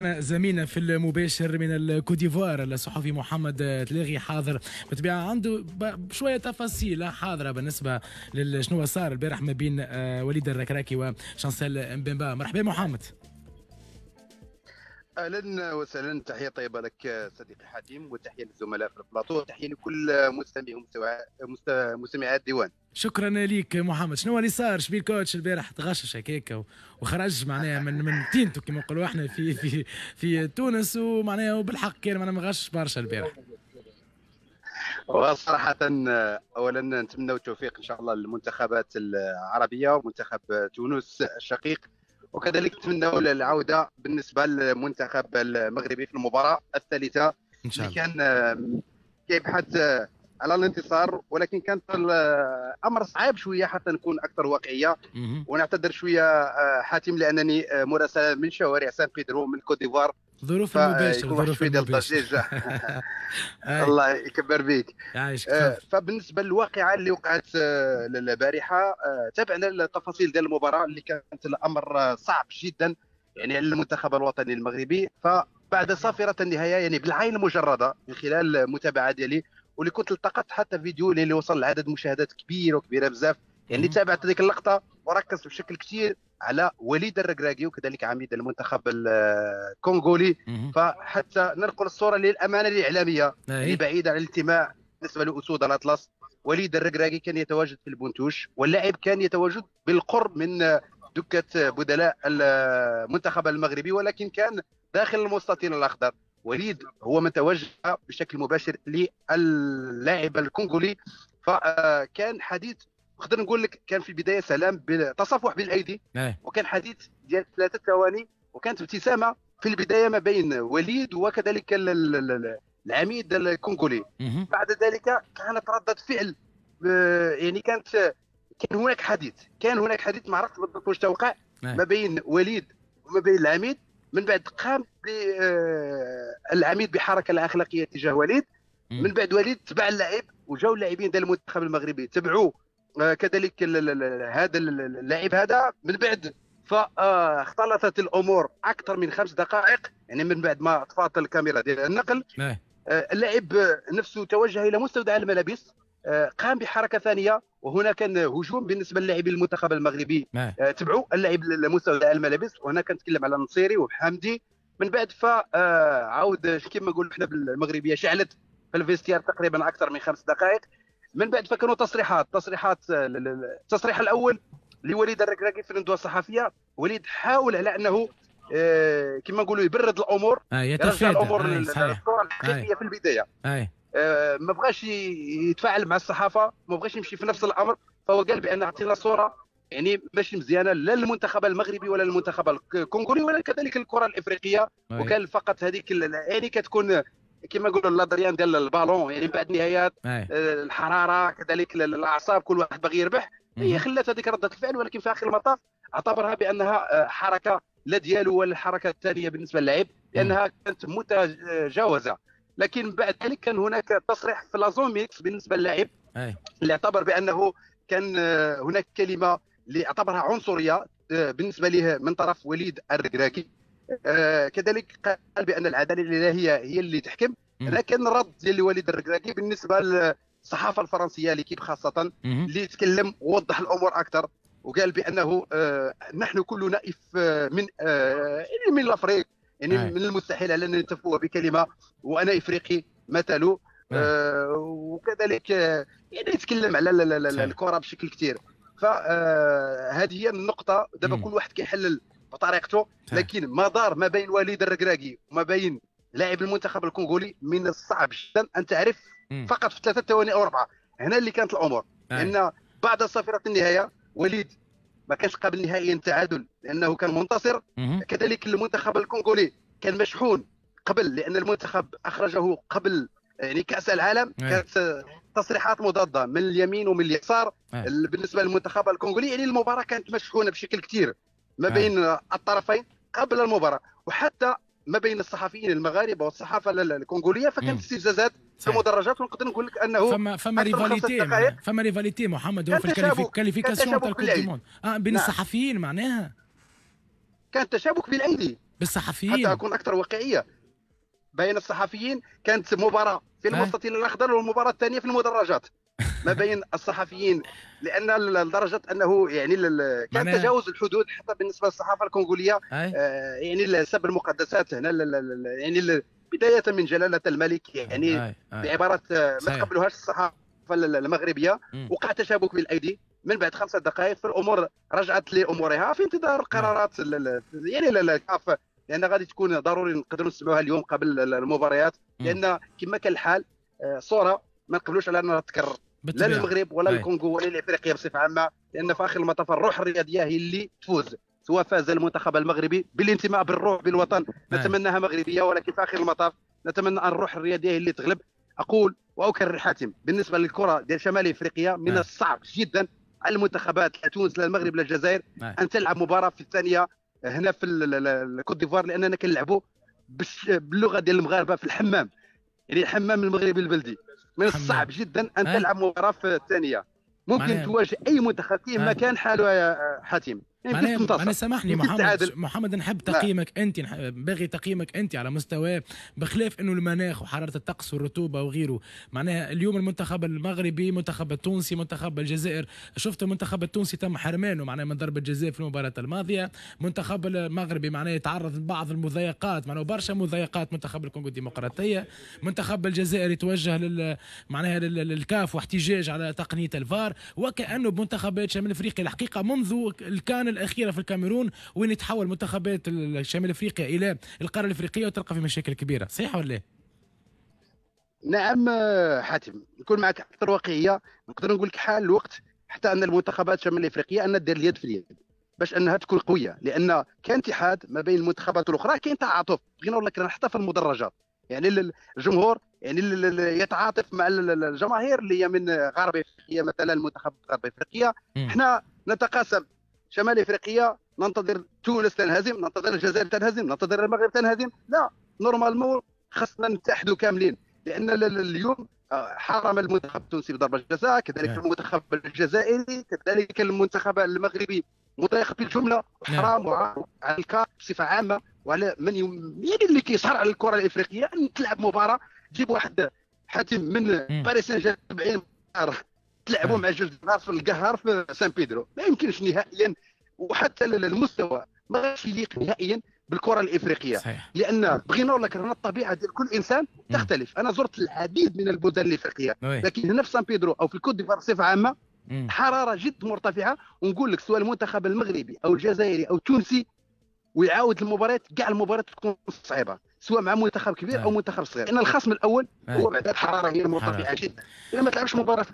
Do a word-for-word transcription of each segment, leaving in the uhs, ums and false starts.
زميلنا في المباشر من الكوديفوار الصحفي محمد تلاغي حاضر، بالطبيعة عنده شوية تفاصيل حاضره بالنسبة لشنو صار البارح ما بين وليد الركراكي وشانسيل مبيمبا. مرحبا محمد. اهلا وسهلا، تحية طيبة لك صديقي حاتم، وتحية للزملاء في البلاطو، وتحية لكل مستمعي ومستمعات الديوان. شكرا لك محمد. شنو اللي صار؟ شبيه ال coach البارح تغشش هكاك وخرج معناها من من تينتو كما نقولوا احنا في في في تونس، ومعناها وبالحق كان معناها مغشش برشا البارح. وصراحة اولا نتمنى التوفيق ان شاء الله للمنتخبات العربية ومنتخب تونس الشقيق، وكذلك نتمنى العودة بالنسبة للمنتخب المغربي في المباراة الثالثة إن شاء الله، اللي كان كيبحث على الانتصار، ولكن كانت الامر صعيب شوية حتى نكون اكثر واقعية. ونعتذر شوية حاتم لانني مراسله من شوارع سان بيدرو من كوت ديفوار، ظروف المباشر ظروف المباشر. الله يكبر بك. فبالنسبه للواقعه اللي وقعت البارحة، تابعنا التفاصيل ديال المباراة اللي كانت الامر صعب جدا يعني على المنتخب الوطني المغربي. فبعد صافرة النهاية يعني بالعين المجردة من خلال المتابعة ديالي، واللي كنت التقطت حتى فيديو اللي وصل لعدد مشاهدات كبيرة وكبيره بزاف، يعني تابعت هذيك اللقطة وركزت بشكل كثير على وليد الركراكي وكذلك عميد المنتخب الكونغولي. فحتى ننقل الصورة للامانة الاعلامية اللي بعيدة عن الانتماء بالنسبة لاسود الاطلس، وليد الركراكي كان يتواجد في البونتوش، واللاعب كان يتواجد بالقرب من دكه بدلاء المنتخب المغربي، ولكن كان داخل المستطيل الاخضر. وليد هو من توجه بشكل مباشر للاعب الكونغولي، فكان حديث نقدر نقول لك كان في البداية سلام تصافح بالايدي، وكان حديث ديال ثلاثة ثواني، وكانت ابتسامة في البداية ما بين وليد وكذلك العميد الكونغولي. بعد ذلك كانت رده فعل، يعني كانت كان هناك حديث كان هناك حديث ما عرفتش بالضبط واش توقع ما بين وليد وما بين العميد. من بعد قام العميد بحركة لا اخلاقية تجاه وليد. من بعد وليد تبع اللاعب، وجاو اللاعبين ديال المنتخب المغربي تبعوا كذلك هذا اللاعب هذا. من بعد فاختلطت الامور اكثر من خمس دقائق، يعني من بعد ما طفات الكاميرا ديال النقل، اللاعب نفسه توجه الى مستودع الملابس، قام بحركة ثانية، وهنا كان هجوم بالنسبة للاعبين المنتخب المغربي، تبعوا اللاعب لمستودع الملابس، وهنا كنتكلم على النصيري وحمدي. من بعد فعاود كما نقولوا حنا بالمغربيه شعلت في ال vestiaire تقريبا اكثر من خمس دقائق. من بعد فكانوا تصريحات تصريحات التصريح الاول لوليد الركراكي في الندوة الصحفية، وليد حاول على انه كما نقولوا يبرد الامور، آه يتفادى الامور الصورة الحقيقية في البداية. آه. آه ما بغاش يتفاعل مع الصحافة، ما بغاش يمشي في نفس الامر، فهو قال بان اعطينا صوره يعني ماشي مزيانه لا للمنتخب المغربي ولا للمنتخب الكونغولي ولا كذلك الكره الافريقية. وكان فقط هذيك يعني كتكون كما نقولوا l'adrénaline ديال البالون، يعني بعد نهايات الحرارة كذلك الاعصاب كل واحد باغي يربح، هي خلات هذيك رده الفعل، ولكن في اخر المطاف اعتبرها بانها حركة لا ديالو ولا الحركة الثانية بالنسبة للاعب لانها كانت متجاوزه. لكن بعد ذلك كان هناك تصريح في la zone mixte بالنسبة للاعب اللي اعتبر بانه كان هناك كلمة اللي اعتبرها عنصرية بالنسبة له من طرف وليد الركراكي. كذلك قال بان العدالة الالهية هي اللي تحكم. لكن الرد ديال وليد الركراكي بالنسبة للصحافة الفرنسية L'Équipe خاصة اللي تكلم ووضح الامور اكثر، وقال بانه نحن كلنا من من l'Afrique، يعني من المستحيل على ان نتفوه بكلمه وانا افريقي مثله. آه وكذلك يعني يتكلم على الكره بشكل كثير. فهذه هي النقطة دابا كل واحد كيحلل بطريقته، لكن ما دار ما بين وليد الركراكي وما بين لاعب المنتخب الكونغولي من الصعب جدا ان تعرف فقط في ثلاثة ثواني او اربعة. هنا اللي كانت الامور، لان بعد صافرة النهاية وليد ما كانش قابل نهائيا التعادل لانه كان منتصر. كذلك المنتخب الكونغولي كان مشحون قبل، لان المنتخب اخرجه قبل يعني كاس العالم. كانت تصريحات مضادة من اليمين ومن اليسار بالنسبة للمنتخب الكونغولي، يعني المباراة كانت مشحونه بشكل كثير ما بين الطرفين قبل المباراة، وحتى ما بين الصحفيين المغاربة والصحافة الكونغوليه، فكانت استفزازات في المدرجات. ونقدر نقول لك انه فما فما rivalité فما rivalité محمد هو في ال qualification تاع ال Coupe du monde اه بين الصحفيين معناها كان تشابك بالايدي. بالصحفيين حتى اكون اكثر واقعية. بين الصحفيين كانت مباراة في المستطيل الاخضر والمباراة الثانية في المدرجات ما بين الصحفيين، لان لدرجة انه يعني كان تجاوز الحدود حتى بالنسبة للصحافة الكونغوليه. آه يعني سب المقدسات هنا يعني بداية من جلاله الملك، يعني بعبارات ما تقبلوهاش الصحافة المغربية. وقع تشابك بالايدي من بعد خمسة دقائق، في الامور رجعت لامورها في انتظار قرارات يعني الكاف، لان غادي تكون ضروري نقدروا نسمعوها اليوم قبل المباريات، لان كما كان الحال صوره ما نقبلوش على انها تتكرر لا للمغرب ولا للكونغو ولا لافريقيا بصفة عامة، لان في اخر المطاف الروح الرياضية هي اللي تفوز، سواء فاز المنتخب المغربي بالانتماء بالروح بالوطن نتمناها مغربية، ولكن في اخر المطاف نتمنى ان الروح الرياضية هي اللي تغلب. اقول واكرر حاتم، بالنسبة للكرة ديال شمال افريقيا من الصعب جدا على المنتخبات لا تونس لا المغرب لا الجزائر ان تلعب مباراة في الثانية هنا في الكوت ديفوار، لاننا كنلعبوا باللغة ديال المغاربة في الحمام، يعني الحمام المغربي البلدي. من الصعب جدا ان تلعب مباراة في الثانية، ممكن تواجه اي منتخب كما كان حاله يا حاتم. معناها سامحني محمد، محمد نحب تقييمك انت، باغي تقييمك انت على مستوى بخلاف انه المناخ وحرارة الطقس والرطوبة وغيره. معناها اليوم المنتخب المغربي، المنتخب التونسي، منتخب الجزائر، شفت المنتخب التونسي تم حرمانه معناها من ضربه جزاء في المباراة الماضية، المنتخب المغربي معناها يتعرض لبعض المضايقات، معناها برشا مضايقات منتخب الكونغو الديمقراطية، منتخب الجزائر يتوجه لل معناها للكاف واحتجاج على تقنية الفار، وكانه بمنتخبات شمال افريقيا الحقيقة منذ الكان الأخيرة في الكاميرون وين يتحول منتخبات شمال افريقيا الى القارة الافريقية وتلقى في مشاكل كبيرة، صحيح ولا لا؟ نعم حاتم، نكون معك اكثر واقعية، نقدر نقول لك حال الوقت حتى ان المنتخبات شمال الافريقية ان دير اليد في اليد باش انها تكون قوية، لان كان اتحاد ما بين المنتخبات الاخرى، كاين تعاطف بغينا ولا كرهنا حتى في المدرجات، يعني الجمهور يعني يتعاطف مع الجماهير اللي هي من غرب افريقيا، مثلا المنتخب غرب افريقيا. احنا نتقاسم شمال افريقيا، ننتظر تونس تنهزم، ننتظر الجزائر تنهزم، ننتظر المغرب تنهزم، لا normalement خصنا نتحدوا كاملين، لان اليوم حرم المنتخب التونسي بضربه جزاء، كذلك المنتخب الجزائري، كذلك المنتخب المغربي مضايق بالجملة، حرام على الكاف بصفة عامة وعلى من يعني اللي كيسهر على الكره الافريقية ان تلعب مباراة، تجيب واحد حاتم من باريس سان جيرمان تلعبوا مع جوج ناس في القهر في سان بيدرو، ما يمكنش نهائيا، وحتى المستوى ما غاش يليق نهائيا بالكرة الافريقية. صحيح. لان بغينا ولا كرهنا الطبيعة ديال كل انسان تختلف. انا زرت العديد من البلدان الافريقية، لكن هنا في سان بيدرو او في الكوت ديفوار بصفة عامة حرارة جد مرتفعة، ونقول لك سواء المنتخب المغربي او الجزائري او التونسي ويعاود المباريات، كاع المباريات تكون صعيبة سواء مع منتخب كبير او منتخب صغير، لان الخصم الاول هو بعد الحرارة هي المرتفعة جدا. اذا ما تلعبش مباراة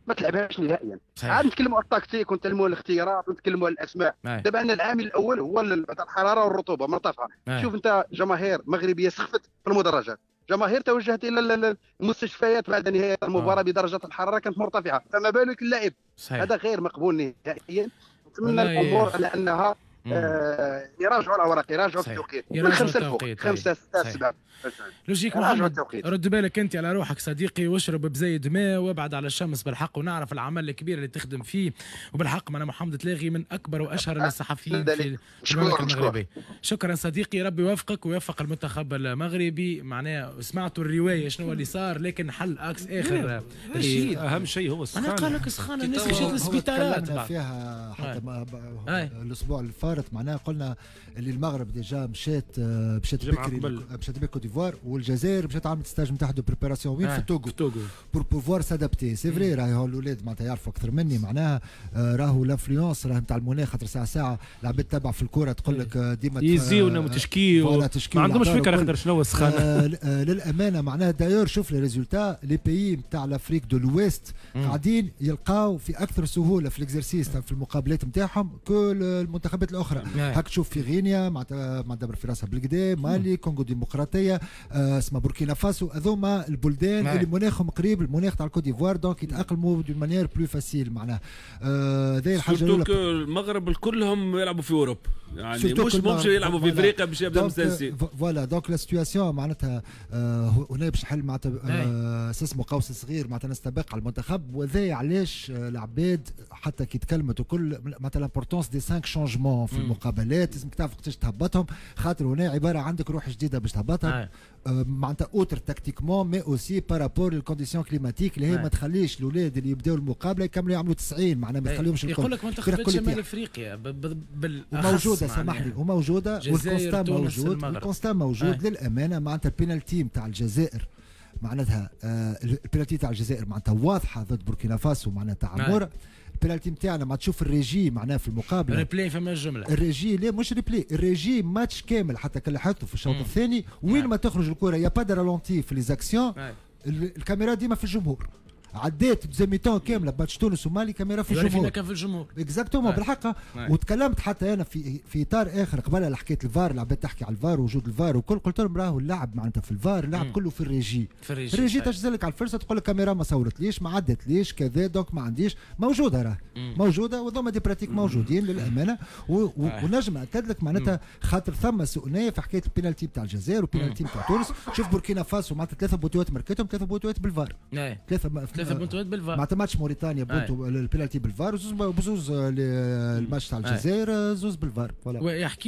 ما تلعبهاش نهائيا. عاد نتكلموا على التكتيك ونتكلموا على الاختيارات ونتكلموا على الاسماء. دابا عندنا العامل الاول هو الحرارة والرطوبة مرتفعة. شوف انت جماهير مغربية سخفت في المدرجات، جماهير توجهت الى المستشفيات بعد نهاية المباراة بدرجة الحرارة كانت مرتفعة، فما بالك اللاعب. هذا غير مقبول نهائيا. نتمنى الامور على انها آه يراجعوا الاوراق، يراجعوا التوقيت من خمسة لفوق، خمسة ستة سبعة. logique محمد، رد بالك انت على روحك صديقي، واشرب بزايد ماء وابعد على الشمس بالحق، ونعرف العمل الكبير اللي تخدم فيه، وبالحق معنا محمد تلاغي من اكبر واشهر الصحفيين في المملكة المغربية. شكرا صديقي، ربي يوفقك ويوفق المنتخب المغربي. معناها سمعتوا الرواية شنو اللي صار، لكن حل اكس اخر. اهم شيء هو السخانه. انا قال لك سخانه، الناس مشات للسبيطارات فيها حتى الاسبوع اللي فات، معناها قلنا اللي المغرب déjà مشات مشات بكري، مشات بكري كوت ديفوار، والجزائر مشات عملت stage نتاعها de préparation وين في التوغو pour pouvoir s'adapter. c'est vrai راهي الاولاد معناتها يعرفوا اكثر مني، معناها راهو l'influence راه نتاع المناخ، خاطر ساعة ساعة العباد تتبع في الكورة تقول لك ديما يزيونا وتشكيو، ما عندهمش فكرة خاطر شنو هو السخانه. للامانة معناها d'ailleurs شوف les résultats، les pays نتاع l'Afrique de l'Ouest قاعدين يلقاو في اكثر سهولة في l'exercice في المقابلات نتاعهم que المنتخبات الاخرى. هاك تشوف في غينيا معناتها دبر في راسها بالكدا، مالي، كونغو ديمقراطية، اسمها بوركينا فاسو، هذوما البلدان اللي مناخهم قريب المناخ تاع الكوت ديفوار، donc يتاقلموا d'une manière plus facile. معناها هذه الحاجة الاولى. المغرب كلهم يلعبوا في اوروبا، يعني مش ممكن يلعبوا في افريقيا باش يبدا مستانسين. voilà donc la situation معناتها هنا باش نحل معناتها اسمه قوس صغير، معناتها نستبق على المنتخب، وذا علاش العباد حتى كي تكلمت وكل معناتها l'importance des cinq changements في المقابلات، لازمك تعرف وقتاش تهبطهم، خاطر هنا عبارة عندك روح جديدة باش تهبطها آه معناتها outre tactiquement mais aussi par rapport لل conditions climatiques اللي هي ما تخليش الاولاد اللي يبداو المقابلة يكملوا يعملوا تسعين، معناها ما تخليهمش الكل. يقول لك منتخبات شمال افريقيا بالاخص موجودة، سامح لي، وموجودة وال constat موجود، ال constat موجود للامانة. معناتها البينالتي نتاع الجزائر معناتها آه البينالتي تاع الجزائر معناتها واضحة ضد بوركينا فاسو معناتها عموره. البينالتي نتاعنا ما تشوف الريجي معناها في المقابلة replay فما الجملة الريجي لا مش replay، ال régie match كامل حتى كان لاحظته في الشوط الثاني وين ما تخرج الكره y a pas de ralenti في les actions، الكاميرا ديما في الجمهور. عديت deuxième mi-temps كاملة ماتش تونس ومالي كاميرا في الجمهور، كان في الجمهور exactement بالحق. وتكلمت حتى انا في في اطار اخر قبل حكاية الفار، العباد تحكي على الفار وجود الفار وكل، قلت لهم راهو اللعب معناتها في الفار اللعب كله في الريجي، في ال régie ال régie تجزلك على الفرصة تقول لك كاميرا ما صورتليش ما عدتليش كذا، donc ما عنديش موجودة راه موجودة، وذوما des pratiques موجودين للامانة. ونجم اكد لك معناتها خاطر ثم سوء نيه في حكاية البينالتي بتاع الجزائر والبينالتي بتاع تونس. شوف بوركينا فاسو معناتها ثلاثة بوتوات مركتهم ثلاثة بوتوات بالفار، ثلاثة ثلاثة بونتوات بالفار، معناتها ماتش موريتانيا بونتو البينالتي بالفار، وزوز بزوز الماتش تاع الجزائر زوز بالفار. ويحكي